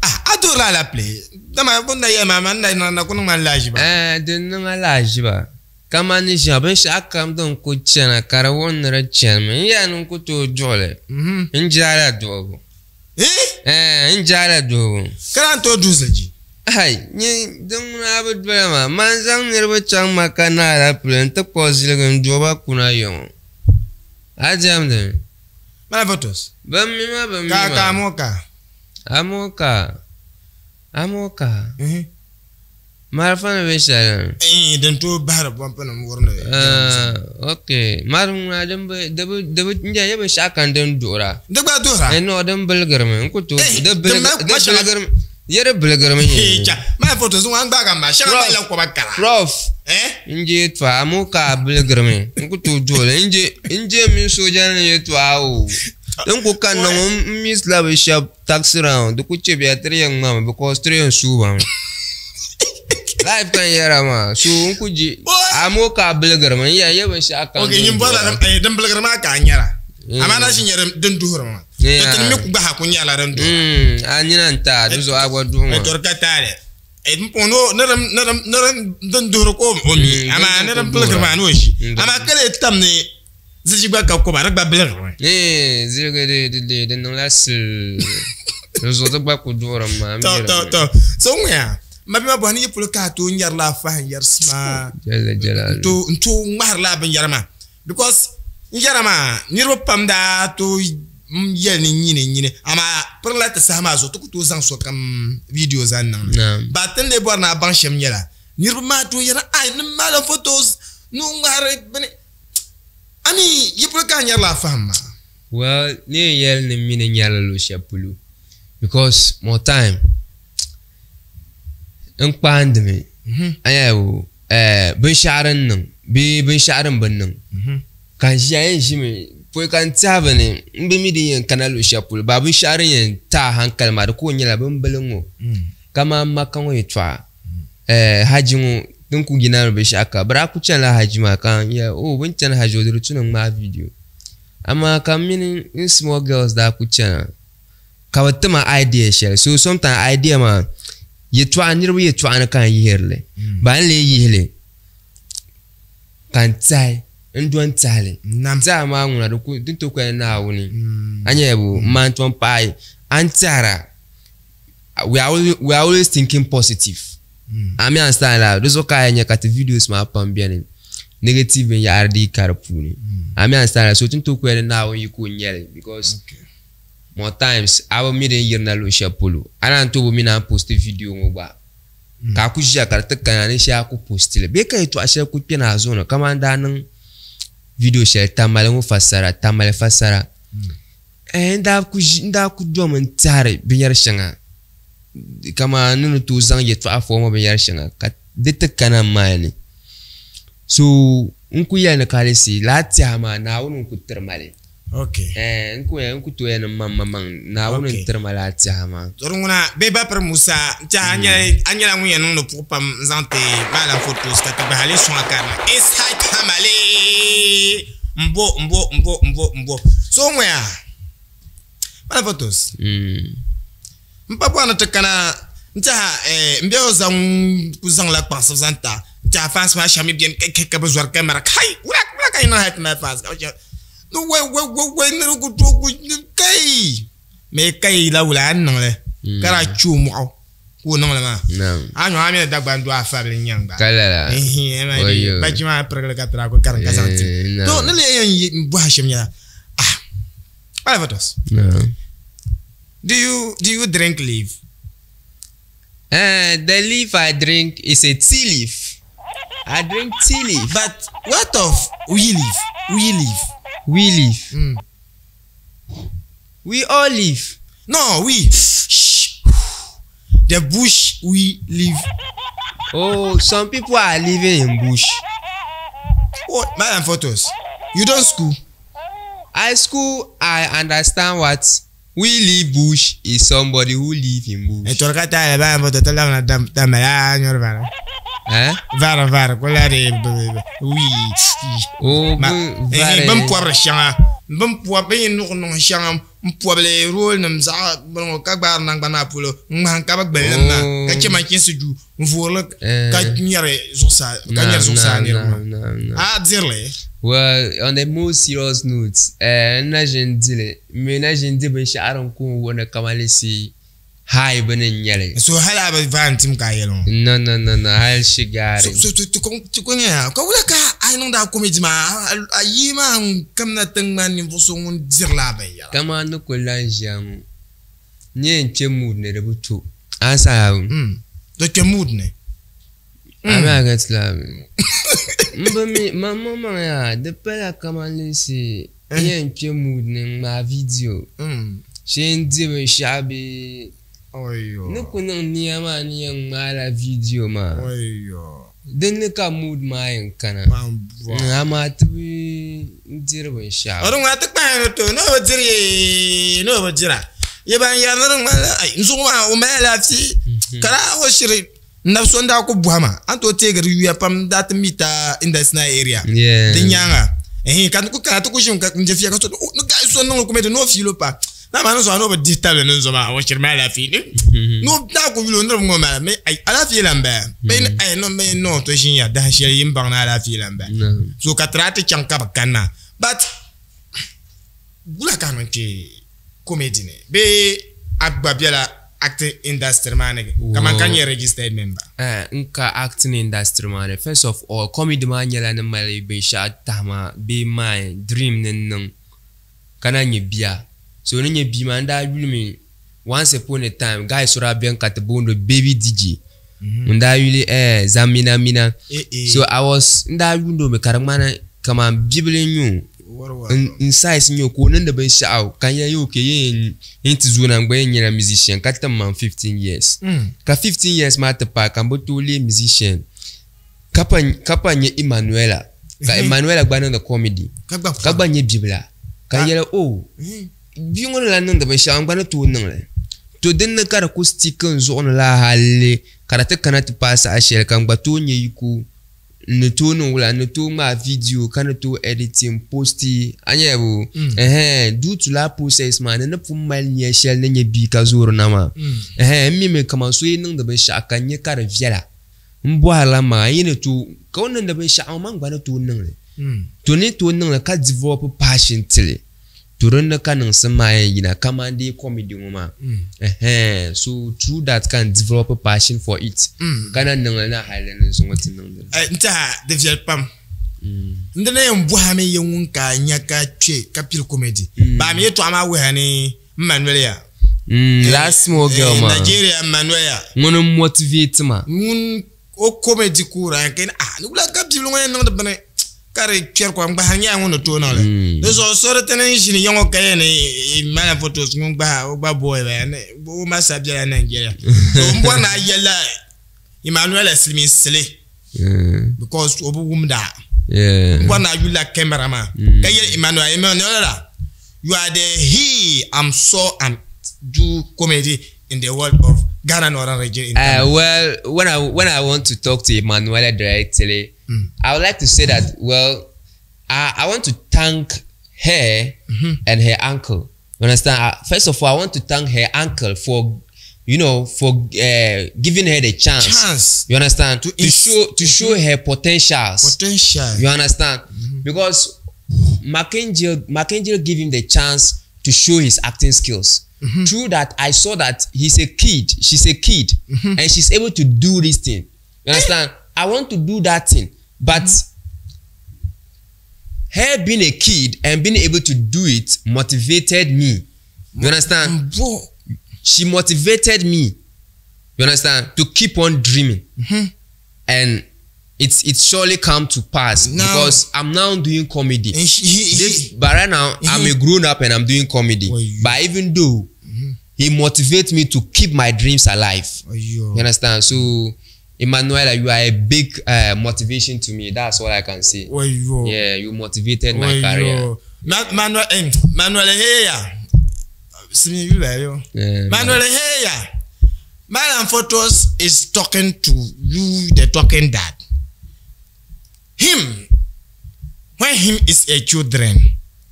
ah, a duhirila alapile dama bɛ ni daa yɛli maa ma n daa na ku niŋ ma lahiʒiba. Eh, di niŋ a lahiʒiba kamani ni ʒiya binshɛɣu kam din ku chana ka di wuhi ni di chanimi n yɛli ni n ku tooi duɣili n jaala duɣibu. Eh? N jaala duhibu. Ka naan tooi duhi ziliji? Hai, nyɛ din ŋuna bi dola maa, man zaŋ niriba chaŋ Maka ni alapile nti kpuɣi ziligi n-duhi ba kuna yiŋɔ. A diɛmdi mi? Mala photos. Bɛ mi ma, bɛ mi ma. Ka, ka amoka. Amoka, amoka. Malifa ni bɛ shɛli. Eh, din tooi bahiri pɔmpi nim wuri ni. Ok, mali ŋuna din bi, di bi, di bi, n yɛ binshɛɣu kam din duhira. Di gba duhira? Eh, no, din biligirimi, n ku tooi, Eh, di din bilig, mali di kuma shɛŋa- biligirimi, yɛ di biligirimi Eh, cha, mali photos ŋɔ an gbaagi a maa, shɛŋa Prof. malila kɔba kara. Prof. Eh? N je yɛltɔɣa, amoo ka a biligirimi, n ku tooi duhili, n je, n je mini sooja nim yɛltɔɣa o. Din ku kanna ŋɔ, n miss la bi shɛba taxi round, di ku chɛ bia tiri yɛn ŋmami because tiri yɛn suuba mi. Life kan yɛra maa, so n ku je, amoo ka a biligirimi, n yɛn yɛ binshɛɣu kam Ok, din nyin bɔrila duhira. din biligiri maa ka a nyɛra. Mm. Amaa na ʒi nyɛ din duhiri maa. Yeah. Ti mi ku gba ha ku nyɛla din duhira. A nina n taai, di zuɣu a gba duhi maa. Tori ka taali. N puɣi ni ni din duhiri ka o mi, Mm, amaa din ni din ku biligiri duhira. maa ni o ʒi. Mm. Amaa ka lee tam ni ziliji gba ka koba, di gba biligirimi. Eh, ziligi di di di di niŋla sil. Di zuɣu di gba ku duhirimi maa, n To, mi to, di to. So ŋɔya, ma bia maa bɔhi ni yi polo ka a tooi nyɛrila a fahim yɛrisi maa. Jalla jalalu. N tooi ŋmahirila a binyɛra maa. Because n yɛra maa, niriba pam daa tooi yɛli ni nyini nyini. Amaa pirila ti saha maa zuɣu, ti ku tooi zaŋ sokam video zaŋ niŋ li. Naam. Ba ti ni lee bɔri ni a baŋ shɛm nyɛla, niriba maa tooi yɛra, ai, ni maali photos, ni o ŋmahiri bini. A mi yi polo ka a nyɛrila a fahim maa? Well, ni yɛn yɛli ni m mi ni nyɛrila luɣ shɛli polo because more time n kpaandimi a nya o binshɛɣu din niŋ bee binshɛɣu din bi niŋ ka n ʒiya yɛn ʒimi pɔi ka n tɛhi bini n bi mi din yɛn kana luɣ shɛli polo baa binshɛɣu din yɛn taai hankali maa di ku nyɛla bin bili ŋɔ kamani Maka ŋɔ yɛltɔɣa Haji ŋɔ Din ku yina ni binshaɣu ka bɛ daa ku chanila haji maa ka n yɛli oh bɛ ni chani haji o di tu ni n ŋmaai video. Amaa ka m mini n small girls daa ku chana ka bɛ ti ma idea shɛli. So sometimes idea maa yɛtɔɣa niriba yɛtɔɣa ni ka n yihiri li. Ba n lee yihi li ka n tiɛhi n dɔni tiɛhi li. Tiɛha maa ŋuna di ku di ni tooi kali Naawuni. A nyɛla bo m maan tom paai a ni tiɛhira we are always, we are always thinking positive. A mi understand la di zuɣu ka a yɛn nya ka ti videos maa pam beni negative binyahari dii ka di puuni. A mi understand la so ti ni tooi kuli ni Naawuni yiko n-nyɛ li because more times a bi mi din yirina luɣ shɛli polo. A naan tooi bi mi ni a ni posti video ŋɔ gba ka a ku ʒiya ka di ti kana ni shee a ku posti li bee ka yɛltɔɣa shɛli ku kpɛna a zuɣu ni kamani daa niŋ video shɛli Tamale ŋɔ fasara, Tamale fasara. Eh, n daa ku ʒi, n daa ku domi n tɛhiri binyɛr shɛŋa kamani ni ni tooi zaŋ yɛtɔɣa fɔɔ ŋɔ binyɛr shɛŋa ka di ti kana m maali ni. So n ku yɛli ni kalisi lala tɛha maa Naawuni n-ku tiri ma li. Okay. Eh, n ku yɛli, n ku tooi yɛli ni m maŋmaŋ Naawuni Okay. n-tiri ma lala tɛha maa. To di ŋuna bee Bapiri Musa n-tɛha a nyɛla a nyɛla ŋun yɛn niŋdi puɣu pam n-zaŋ ti Maalam Fotos ka ti gba hali sɔŋ a karina Ishaq Hamali. Mbo mbo mbo mbo mbo so ŋɔya mana photos m pa bɔri ni ti kana n tiɛha eh, n bɛ o zaŋ ku zaŋla kpaŋsibu zaŋ ta n tiɛha fans maa shɛba mi bɛni ka ka ka bi zɔri kamara kai wula wula ka yi niŋ hali ti mali fans ka bi shɛba ni wai wai wai wai ni di ku tooi ku kai mɛ kai la wula a ni niŋli ka daa chɛ o mɔɣu ka o niŋli maa a nyo a mi ni Dagbaŋ doo a fabili n-nyaŋ gba. Ka lala. Oyo. Bachi maa pirigili ka tira ku karim ka zaŋ ti. To ni lee yɛn yi bɔhi shɛm nyɛla, ah, Olivatus, do you, do you drink leaf? Eh, the leaf I drink is a tea leaf. I drink tea leaf. But what of wee leaf? Wee leaf. Wee leaf. We all leaf. No, we. Shh. The bush we live. Oh, some people are living in bush. What? Madam Photos, you don't school. I school, I understand what we live bush is somebody who live in bush. E torka ta ba mo to la na dam dam ya nyor vara. Eh? Vara vara ko la de wi. Oh, Ma vara. bim pɔbiri shɛŋa bim pɔb bɛ yi nuɣu niŋ shɛŋa n pɔbili rool nim zaɣ bini ŋɔ ka gbaari nangbani maa polo n ŋmahim ka bi gbali lim maa ka chɛ manchinsi duu n voorili ka nyɛri zuɣusaa ka nyɛri zuɣusaa niriba maa a dirili. Well, on a more serious note, eh, n na ʒin dili, n mi na ʒin di binshɛɣu din ku n wuhi ni kamalisi high bini n nyɛli. So hali a bi vaai n-tim ka a yɛli ŋɔ? No, no, no, no, hali shigaari. So, so, ti ko nyɛya ka wula ka a niŋdi a comedy maa, a yii maa n-kamina ti ŋmani ninvuɣ so ŋun dirila a binyɛra? Kamani ni kuli lan ʒiya ŋɔ, n yɛn kpe mood ni di bi to. A saha. Di kpe mood ni. A mi a get la. M bi mi, maŋmaŋ yaa, di pala kamani leesi n yɛn kpe mood ni n-ŋmaai video. Shee n di binshɛɣu bee ni ku niŋ nia maa ni yɛn ŋmaala video maa din ni ka mood maa yɛn kana amaa ti bi diri binshɛɣu. O di ŋmaa ti kpahi ni to ni o bi diri yee ni o bi dira ye ban yɛri ni di ŋmanila ai n zuɣu maa o mali alaafee ka daa o shiri n nabi so n daa ku bɔhi ma a ni tooi teegi di yuya pam n daa ti mi ta Indasina area di nyaaŋa ɛhɛn ka n ku kana ti ku ʒimi ka n je fiya ka so ni gahi so niŋli kumɛdi ni o fiilo pa na maa ni zuɣu ni o bi dihi tabili ni n zo maa o shiri mali alaafee ni ni o daa ku yuli o niriba ŋɔ mali mi ai alaafee lan bala bee ni ai no mi no to ʒinya dahin shɛli yi ni baŋ ni alaafee lan bala so ka ti daa ti chaŋ ka bi kani maa but wula ka a niŋ kpe comedy ni bee a gba bela acting industry maa ni kaman ka nyɛ registered member? Eh, n ka acting industry maa ni. First of all, comedy maa nyɛla ni mali binshɛɣu tahima bee mind, dream ni n niŋ ka na nyɛ bia. So ni nyɛ bia maa n daa yulimi once upon a time guy so daa beni ka ti booni o Baby DJ. Ŋun daa yuli eh Zamina Mina. Eh, eh. So I was n daa yuuni o mi ka di ŋmani kaman bibili n-nyɛ o. N size n-nyɛ o ka o niŋdi binshɛɣu ka n yɛli okay yi yɛn ti zooi na n gba yɛn nyɛla musician ka tim man 15 years. Ka 15 years maa ti paai ka m bi tooi leei musician ka pa nyɛ Emanuela ka Emanuela gba niŋdi comedy ka gba nyɛ bibila ka n yɛli oh bia ŋɔ ni lahi niŋdi binshɛɣu n gba ni tooi niŋ li. To din ni ka di ku stick n zuɣu ni la hali ka di ti kana ti paai saha shɛli ka n gba tooi nyɛ yiko n ni tooi niŋ wula n ni tooi ŋmaai video ka ni tooi editing posti a nyɛ bu ɛhɛn due to laa process maa ni ni pun mali nia shɛli ni nyɛ bia ka zoori na maa ɛhɛn n mi mi kaman so yi niŋdi binshɛɣu ka n nyɛ ka di viɛla n bɔhirila maa yi ni tooi ka o niŋdi binshɛɣu man gba ni tooi niŋli to ni tooi niŋli ka develop passion tili To din ni ka niŋsim maa yɛn yina kaman dee comedy ŋɔ maa ɛhɛn so through that ka n develop passion for it ka na niŋli na hali ni zuŋɔ ti niŋdi li. N tɛha di viɛli pam. N di na yɛn bɔhi a mi ya ŋun ka a nya ka kpe ka pili comedy. Baa mi yɛtɔɣa maa wuhiya ni m ma noli ya. Last small girl maa. Nigeria m ma noli ya. Ŋuni m motivate ma. Ŋun o comedy ku daa yɛn ah ni wula ka bibili ŋɔ yɛn niŋdi bini ka di kpɛri kom gbahiri nyɛla ŋun ni tooi niŋli di zuɣu so di ti ni ʒini ya ŋɔ ka yɛn ni mali photos ŋun gbahi o gba boy bala ni o ma sa bela Nigeria so n bɔri ni a yɛlila Emmanuel Siliminsili because o bi wumda n bɔri ni a yulila camera maa ka yɛli Emmanuel Emmanuel you are the he I'm so and do comedy in the world of Ghana Northern region. In well, when I when I want to talk to Emanuela directly, I would like to say that well, I, I want to thank her and her uncle. You understand? First of all, I want to thank her uncle for, you know, for giving her the chance. Chance. You understand? To, ins- show to show her potentials. Potential. You understand? Because Macangel Macangel gave him the chance to show his acting skills. Through that, I saw that he's a kid. She's a kid, and she's able to do this thing. You understand? I want to do that thing, but her being a kid and being able to do it motivated me. You understand? Bo. She motivated me. You understand? To keep on dreaming, and it's it's surely come to pass Now- because I'm now doing comedy. And she, he, This, but right now I'm a grown up and I'm doing comedy. Well, you- But even though he motivates me to keep my dreams alive. Ayo. You understand? So, Emanuela, you are a big motivation to me. That's all I can say. Ayo. Yeah, you motivated my career. Ma- Manuel, eh, Manuel Heya. Simi yula yo. Yeah, Manuel Heya. Malam Photos is talking to you, the talking dad. Him, when him is a children,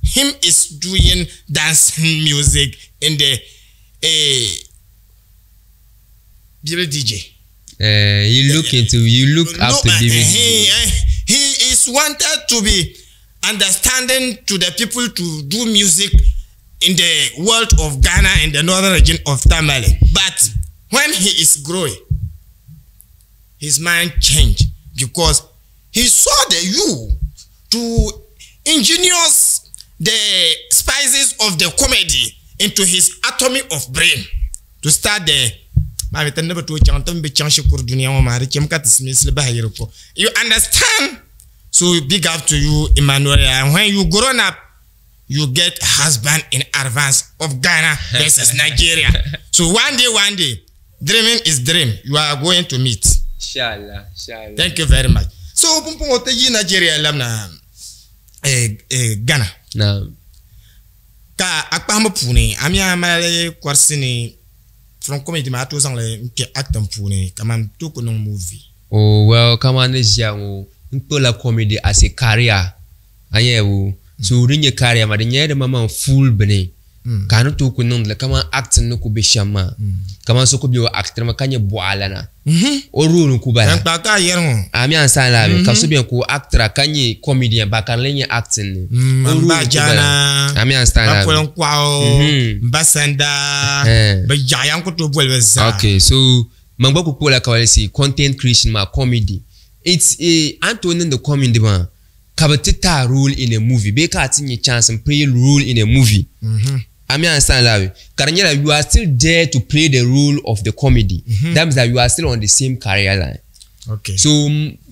him is doing dancing music in the Bible DJ. You look into, you look No, up to David. he is wanted to be understanding to the people to do music in the world of Ghana in the northern region of Tamale. But when he is growing, his mind changed because he saw the you to ingenious the spices of the comedy into his atomy of brain to start the Mami, tani bi tooi chaŋ ti bi chaŋ shikuru dunia ŋɔ maa di chɛmi ka ti silimiinsili bahi yiri ko. You understand? So big up to you, Emmanuel. And when you grown up, you get husband in advance of Ghana versus Nigeria. So one day, dreaming is dream. You are going to meet. Inshallah, inshallah. Thank you very much. So pumpun o yi Nigeria lamna Ghana. Naam. Ka a kpahimbu puuni a mi a mali kɔrisi ni from comedy maa a tooi zaŋli n kpɛ acting puuni kaman tooi ku niŋ movie. Oh well, kaman ni ʒiya ŋɔ n kpuɣila comedy as a career. A nyɛ bu so di nyɛ career maa di nyɛla di maŋmaŋ full bini ka a ni tooi ku niŋdili kaman acting ni ku be shɛm maa kaman so ku be o acting mi ka nyɛ bɔɣalana o role n ku bala. Tankpaɣu ka a yɛri ŋɔ. A mi an san la ka so bɛni ka o actor ka nyɛ comedian ba ka di lee nyɛ acting ni o N role ba n ku bala. jaana A mi an san ba la poli n kɔɣu n ba sanda bi yaɣaya n ku tooi boli bi zaa. Okay, so man gba ku kpuɣila ka si content creation maa comedy. It's a an tooi niŋdi comedy maa ka bi ti ta role in a movie bee ka a ti nyɛ chance n play role in a movie. A mi understand la ka di nyɛla you are still there to play the role of the comedy. That means that you are still on the same career line. Okay. So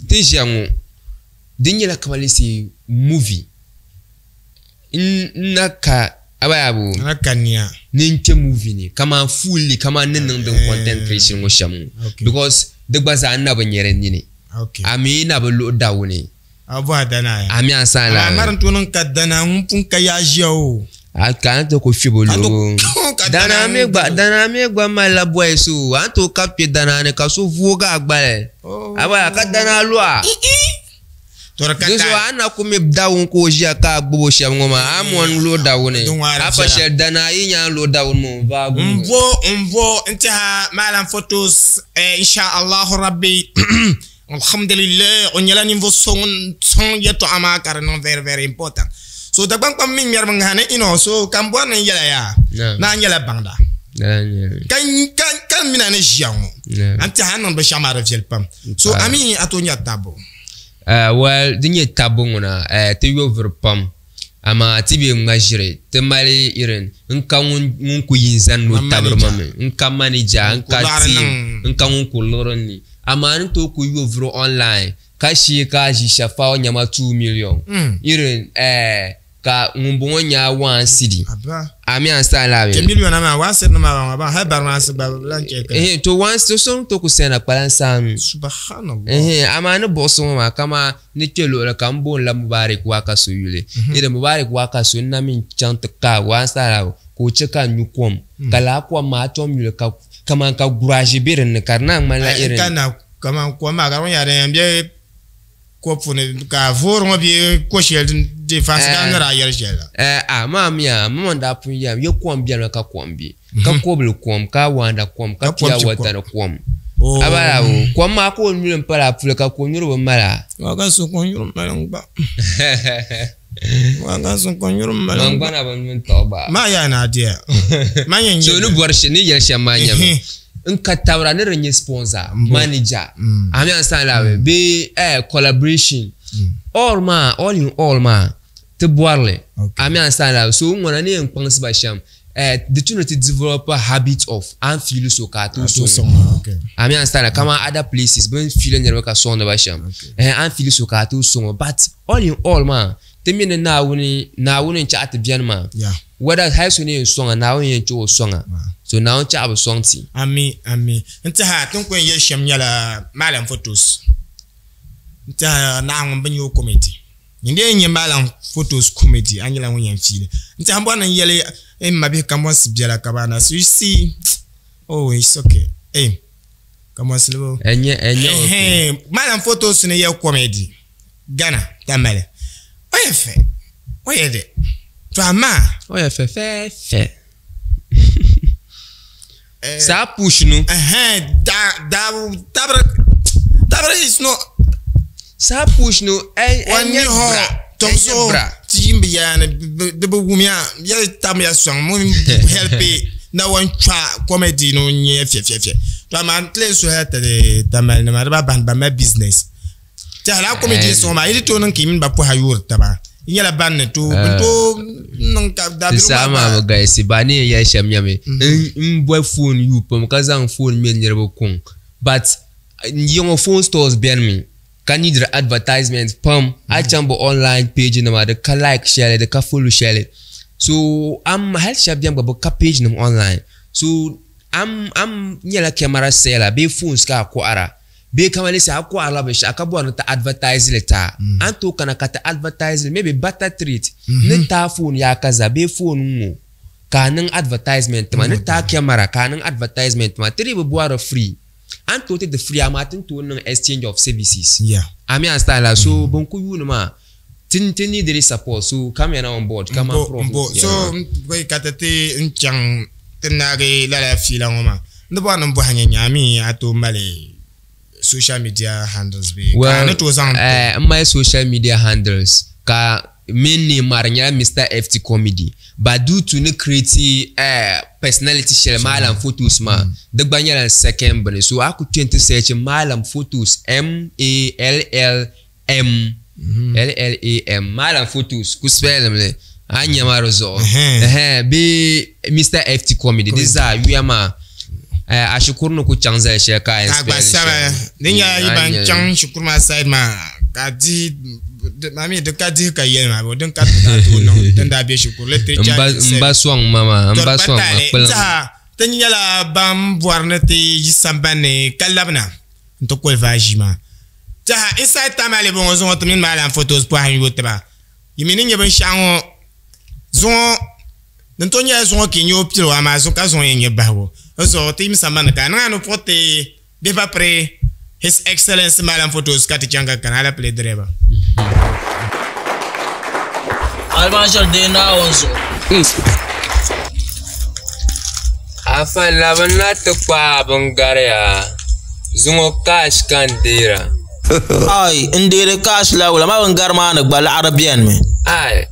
ti ʒiya ŋɔ di nyɛla kamani si movie n na ka abayabu Ana ka niya. ni n kpɛ movie ni kaman fully kaman ni niŋdi n content creation ŋɔ shɛm ŋɔ Okay. because di gba zaa n na bi nyɛ di nini Okay. a mi na bi luɣi dawu ni A bɔhi dana ya. a mi an san A la mari n tooi niŋ ka dana ŋun pun ka yaa ʒiya o. A ka a ni ti ku fibo Ka to- luɣu. ka Danaa danaa mi gba danaa mi gba malila boys o. A ni tooi ka kpe danaa ni ka so voogi a gbali. Oh. A ba ka danaa lɔha. To di ka Di zuɣu taali. a na ku mi dawuni ka o ʒiya ka a gbubi o shɛba ŋɔ maa a mɔni luɣi dawuni. Din waari A pa viɛla. shɛli danaa yi nya luɣi dawuni maa o vaagi o. Mbo mbo n-tɛha Malam Photos eh, insha Allahu Rabbi alhamdulillah o nyɛla ninvuɣ so ŋun sɔŋ yɛltɔɣa maa ka di niŋ very very important. So Dagbaŋ kpam mi ŋmɛrimi ŋahi ni ino so ka n bɔri ni n yɛla yaa Naam. naa nyɛla baŋda Lala n-nyɛ li. ka ka ka n mina ni ʒiya ŋɔ Naam. an tɛha a niŋ binshɛɣu maa di viɛli pam so Paai. a mi a tooi nyɛri tabbu. Well, di nyɛ tabbu ŋuna ti yo vuri pam amaa ti bɛ ŋma ʒiri ti mali irin n ka ŋun ŋun ku yi n zani ni o Ma tabiri ma manager. mi n ka manager n Ku ka lɔɣiri team niŋ. n ka ŋun ku liɣiri ni amaa ni tooi ku yo vuri online ka shee ka ʒi shafaw nyɛma 2 million irin ka ŋun bɔŋɔ nya 1 cedi Aba. a mi an style la Ke bɛ million maa waa siri nima maa ba hali bari maa si gba lan chɛ ka. eh to one to so to ku sena kpalan saanu. Subhanallah. Ehe, amaa ni buɣusi ŋɔ maa kama ni kpe luɣuli ka n booni la Mubarak Wakaso yuli. Iri Mubarak Wakaso n na mi chaŋ ti ka waan saala ka o che ka n nyu kom. Ka laa kom maa tom yuli ka kaman ka guraji be dinni ka di naan ŋmanila Ai, irin ka na kaman kom maa ka di nyɛla din yɛn be kopu ni ka voori ŋɔ bɛ ko shɛli din di fansi ka ni daa yɛli shɛli la. Eh, a maa miya mama daa pun yɛm ye kom bɛni ka kom be ka kobili kom ka waanda kom ka Ka kom pure ti water ni kom. Oh. Abala o kom maa ka o nyuli n pala puli ka ko nyuri bi mala. Waa ka so ko nyuri mali n gba. Waa ka so ko nyuri mali Man n gba. gba na bi nyuli tɔɣi gba. Maa yaa na adiya. Maa yɛn So ni bɔri shɛ ni yɛli shɛm maa nyɛmi Ehe. n ka tabira ni di nyɛ sponsor manager Mm. a mi understand la bee collaboration all maa all in all maa ti bɔrili Okay. a mi understand la so n ŋɔna ni yɛn kpaŋsi ba shɛm di tu ni ti develop a habit of an feel so ka a tooi To sɔŋ sɔŋ. Okay. a mi understand la kama other places bin feel niriba ka sɔŋdi ba shɛm an feel so ka a tooi sɔŋ but all in all maa ti mi ni Naawuni Naawuni n chaɣa ti bɛni maa Yeah. whether hali so ni yɛn sɔŋa Naawuni yɛn chaɣa o sɔŋa so Naawuni chaɣa bi sɔŋ ti. Ami ami n tiɛha tin ku yɛn yɛli shɛm nyɛla Malam Photos n tiɛha naɣa ŋun bi nyɛ o comedy n dee nyɛ Malam Photos comedy a nyɛla ŋun yɛn fiili n tiɛha n bɔri ni n yɛli n ma bihi kambɔnsi biɛla ka ba na so you see oh it's okay eh kambɔnsi libo Ɛnyɛ ɛnyɛ okay. Ɛhɛn, Malam Photos ni yɛ comedy Ghana Tamale o yɛ fɛ o yɛ dɛ to amaa O yɛ fɛfɛɛfɛ. Saa push nu. ɛhɛn da da tabiri tabiri is not Saa push nu wani ɛnyɛ hɔ bra. tɔmso Ɛnyɛ bra. ti yin bi yaani di bi wumiya ya tamya sɔŋ mun helpi na wan twa comedy no nyɛ fiɛ fiɛ fiɛ to amaa n tilen so hali ti Tamale nima di ba ban ba ma business ti hala comedy sɔŋ maa yi di tooi niŋ ka yi mini ba pɔha yoori taba yi nyɛla ban ni to bin tooi niŋ ka Ti daabiligu saha maa maa gba bi galisi ba ni yɛn yɛli shɛm nyɛmi n boli phone yu pam ka zaŋ phone mini niriba kuŋ but yiŋɔ phone stores bɛni mi ka need advertisement pam a chaŋ bi online page nima di ka like shɛli di ka follow shɛli so am hali shɛba bɛni gba bi ka page nim online so am am nyɛla camera seller bee phones ka a kɔhira bee kama lesi a kɔhirila binshaɣu ka bɔri ni ti advertise li taa an tooi kana ka ti advertise li maybe better treat ni taa phone yaa ka za bee phone ŋɔ ka a niŋ advertisement ma ni taa camera ka a niŋ advertisement ma ti dii bi bɔri free an tooi ti di free amaa ti ni tooi niŋ exchange of services Yeah. a mi understand la so bin ku yuuni maa ti ti need the support so come here now on board come and Mbo prof mbo so bɔi ka ti ti n chaŋ ti naagi lala fiila ŋɔ maa n di bɔri ni n bɔhi nyɛ nyaami a tooi mali social media handles bee ka a ni tooi zaŋ n mali social media handles ka main name maa di nyɛla Mr. FT Comedy but due to ni create personality shɛli Malam Photos maa di gba nyɛla n second bini so a ku kpe n ti search Malam Photos M A L L M L L A M Malam Photos ku spell li a nya ma di zuɣu Ɛhɛn. Ɛhɛn, bee Mr. FT Comedy di zaa yuya maa a shikuru ni ku chaŋ zali shɛli ka a yɛn ka gba spell li saba shɛli. di nyɛla yi A ban nya li. chaŋ shikuru maa side maa ka dihi maa mi di ka dihi ka yɛli maa din ka ti daa tooi niŋ din daa bɛ shikuru literature Mba mba sɔŋ ma maa mba sɔŋ ma kpilim Tiha ti nyɛla ban bɔri ni ti yi sambani ka labina n ti qualify ʒii maa tiha inside Tamale bɔŋɔ zuŋɔ ti mini Malam Photos pɔhim yooi tiba yi mi ni nyɛ binshaɣu ŋɔ zuŋɔ Din to nyɛla zuŋɔ ka yi nyɛ o piligu amaa ka zuŋɔ yɛn nyɛ bahigu. O zuɣu ti yim sambani ka a niŋ a ni puɣi ti bihi pa piri His Excellency Malam Photos ka ti chaŋ ka kana alapile direba. Almaajiri deei Naawuni zuɣu. Afa labina ti kpaai bingariya, zuŋɔ cash ka n deera. Ai, n deeri cash la wula, amaa bingari maa ni gba laɣiri benimi. Ai,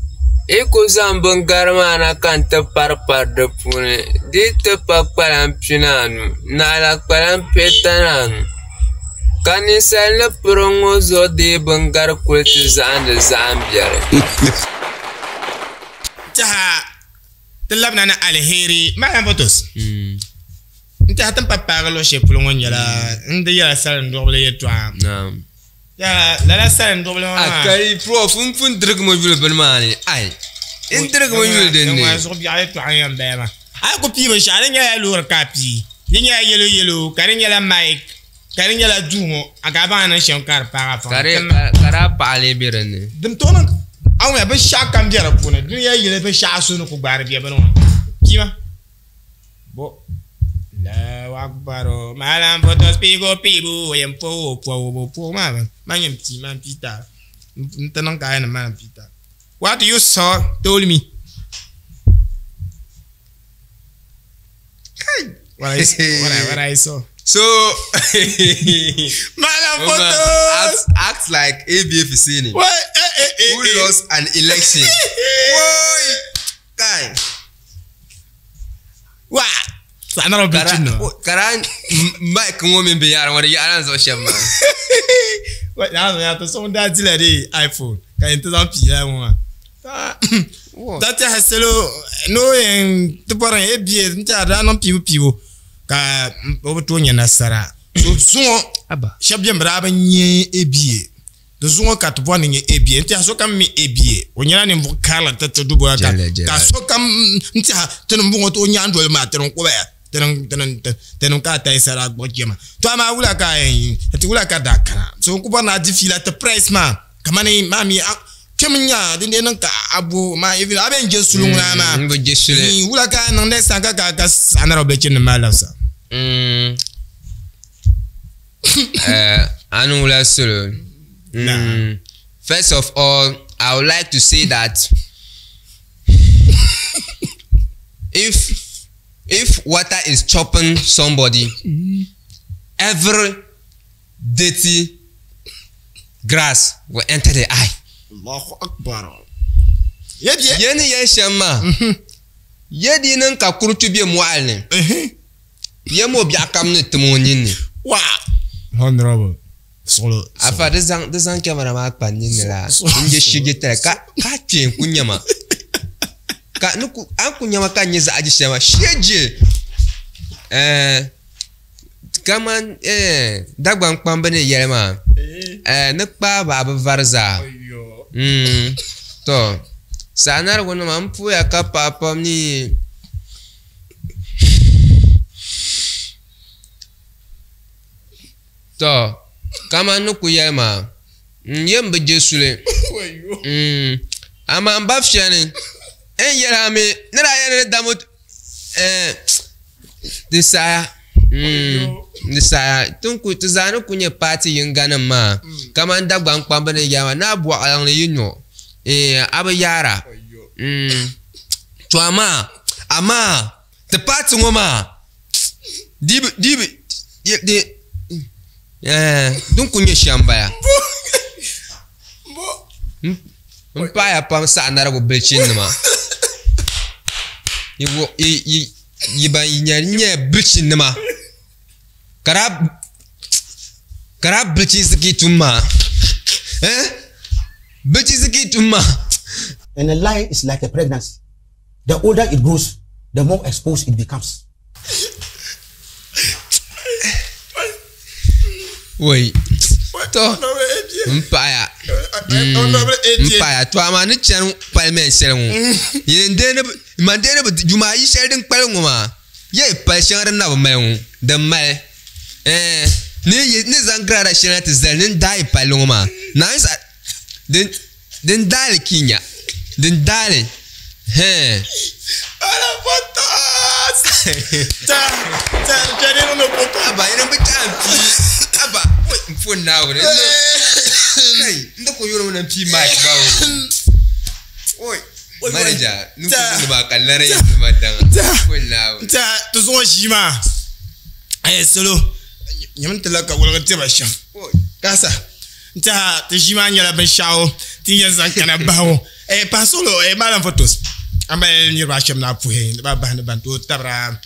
yi ku zaŋ bingari maa na ka n ti paripari di puuni, di yi ti pa kpalan pinaanu, naɣila kpalan pihita ni anu. Ka ninsal ni piri ŋ-ŋɔ zuɣu deei bingari kuli ti zahindi zahim biɛri. Tɛha ti labina ni aliheri Malam Botos. N tɛha ti ni pa paagi luɣ shɛli polo ŋɔ nyɛla n di yɛla salinduɣubili yɛltɔɣa. Tɛha lala salinduɣubili ŋɔ maa. Kai prof n pun dirigi mi yuli bini maa ni ai n dirigi mi yuli din ni. Zuɣu biɛɣu yɛltɔɣa n yɛn bala maa. A yi ku pii binshɛɣu di nyɛla loori ka a pii di nyɛla yɛlo yɛlo ka di nyɛla mic ka di nyɛla duu ŋɔ a ka a baŋ a niŋ shɛm ka di paagi a faŋ. Ka daa paɣa lee be din ni. Din tooi niŋ a wumya binshɛɣu kam be di puuni dunia yili binshɛɣu so ni ku gbaari be bini ŋɔ pii ma. Bo Allahu Akbar Malam Photos piibu piibu o yɛn po o po o po maa man yɛn pii man pii ta n ti niŋ ka a yɛn man pii ta What you saw told me. What I, what I, what I saw. So, Malam Photos Photos. act like ABF Husseini, What? Eh, eh, eh, who eh. lost an election. Woi, kai. Wa. Saɣanara bichi no. Kara mic ŋɔ mini binyahari ŋɔ di yaɣila n zuɣu shɛm maa. Wa na ya to so daa dila di iPhone ka yɛn ti zaŋ pii la ŋɔ maa. Da tɛha salo ni o yɛn ti bɔri e bia n tɛha daa niŋ piibu piibu ka o bi tooi nyɛ nasara. So zuŋɔ shɛba bɛni bi daa bi nyɛ e bia di zuŋɔ ka ti bɔri ni nyɛ e bia n tɛha sokam mi e bia o nyɛla ninvuɣu karili ti ti duboya ka ka sokam n tɛha ti ni bɔŋɔ ti o nyaandoli maa ti ni kubaya tinim ka a tayi sara gbuɣi chɛma to amaa wula ka ti wula ka daa kana so n ku bɔri ni a di fiila ti price maa kamani maa mi kpɛm nya din dee niŋ ka a bo maa even a bɛn je suli ŋuna maa n bi je suli wula ka a niŋ next time ka ka ka saɣanara bilichini maa labisa. A ni wula suli. First of all, I would like to say that if water is chopping somebody, every dirty grass will enter the eye. Allahu Akbar. Yeni yen shɛm maa, ye di niŋ ka kuruchu be mɔɣili ni, ye mo biɛɣu kam ni tim o ninni. Wa. Honorable. Solo. Afa di zaŋ kamara maa kpa ninni la, n je shigi tali ka ka kpee n ku nyɛma. Ka ni ku an ku nyɛma ka nyɛ zaɣa ji shɛm maa, shee je. Kaman Dagbaŋ kpamba ni yɛli maa, ni kpaai baɣa bi vari zaa. To, saɣanarigu nima n puya ka paɣa pam ni to kaman ni ku yɛli maa n yɛn bi je suli. Amaa n ba fiɛni n yɛli a mi ni daa yɛli ni damu di saha di saha ti zaa ni ku nyɛ paati yinga nim maa kaman Dagbaŋ kpamba ni yɛli maa naa bɔɣiliŋ ni yi nyo a bi yaara. To amaa ti paati ŋɔ maa di din ku nyɛ shɛm bala n paɣaya pam saɣanarigu bilichin nima yi ban nyɛ bilichin nima ka daa bilichinsi ka yi tum maa bilichinsi ka yi tum maa. And a lie is like a pregnancy. The older it grows, the more exposed it becomes. Wai. To n paɣaya to amaa ni chani parliament shɛli ŋɔ man deeni bi juma ayi shɛli din kpali ŋɔ maa ye pali shɛŋa din na bi mali ŋɔ din mali ni zaŋ girada shɛli na ti zali ni daai palli ŋɔ maa din daali kinya din daali. He. Ala photos. Ta ta jani no photo. Aba ina bi ta pi. Aba oi mfo na wani. Kai nda ko yoro na pi mic ba o. Oi. Manager, nu ko ba kallare yanzu ma dan. Mfo na wani. Ta to zo shi ma. Eh solo. Nyamin talaka wala te ba sham. Kasa. Ta ti ʒi maa nyɛla binshaɣu ti yɛn zaŋ kana bahi eh pa solo eh malam photos ama niriba ashɛm na puhi ba bahi ni ban tooi tabira.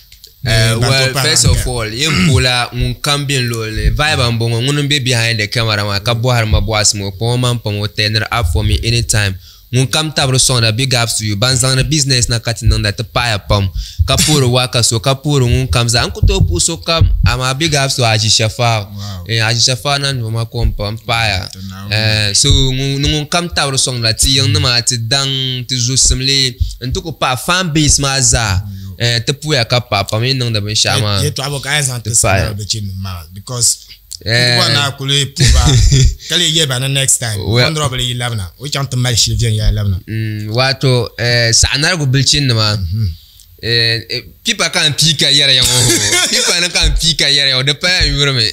Well, first of all, yin pula ŋun kam bɛ luɣuli vibe n bɔŋɔ ŋun bɛ behind the camera maa ka bɔhiri ma bɔhisi mo kpɔŋɔ man pam o turn it up for me anytime. Ŋun kam tabiri sɔŋda big ups to you ban zaŋdi business na ka ti niŋda ti paɣaya pam ka puhiri waka so ka puhiri ŋun kam zaa n ku tooi puhi so kam amaa big ups to Haji Shafau. Haji Shafau na nima ko n pa n paɣaya. So ni ŋun kam tabiri sɔŋda ti yiŋnima ti daŋ ti zusimli n ti ku paɣa fan base maa zaa ti puya ka paɣa pam yi niŋdi binshaɣu maa. Yɛltɔɣa bɔ ka a yɛn zaŋ ti sara bɛ maa because na kuli puba kali ye ba na next time honorable yi labna o chaŋ ti mali shili viɛnyɛla labna. Wato saɣanarigu bilchinnima pipa ka n pii ka yɛra ya ŋɔ pipa ni ka n pii ka yɛra ya ŋɔ di pala n yurimi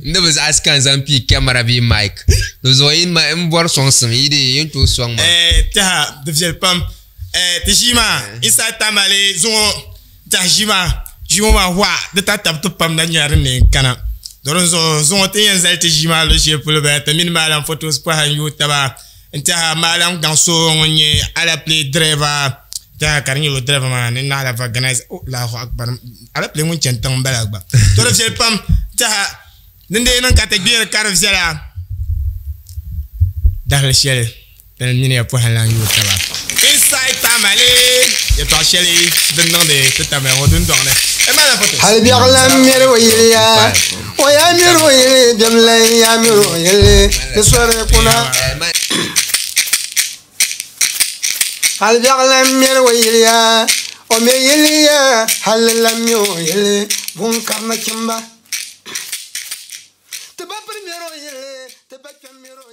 n di bi zaɣasi ka n zaŋ pii kamara bee mic di zuɣu yi n bɔri sɔŋsim yi di yin tooi sɔŋ ma. Tiha di viɛli pam ti ʒii maa inside Tamale zuŋɔ tiha ʒii maa ʒii ŋɔ maa wa di ta tabi ti pam na nyɛla din na yɛn kana. Dorin zuɣu zuŋɔ ti yɛn zali ti ʒii maa luɣu shɛli polo bala ti mini maalam photos pahi n yooi taba n tiɛha maalam gaŋ so ŋun nyɛ alapile driver tiɛha ka di nyɛ o driver maa ni naɣala vaganize o Allahu akbar alapile ŋun chɛni tiŋ n bala gba to di viɛli pam tiɛha din dee niŋ ka ti gbihiri ka di viɛla dahali shɛli ti mini ya pɔhim lan yooi taba inside Tamale yɛltɔɣa shɛli din niŋdi ti Tamale ŋɔ dundɔŋ ni. Hali biɛɣu lan miri o yiliya o ya miri o yili biɛm lan ya miri o yili di sori kuna. Hali biɛɣu lan miri o yiliya o mi yiliya hali lan mi o yili bun kari nachimba. Ti ba piri miri o yili ti ba kpɛm miri o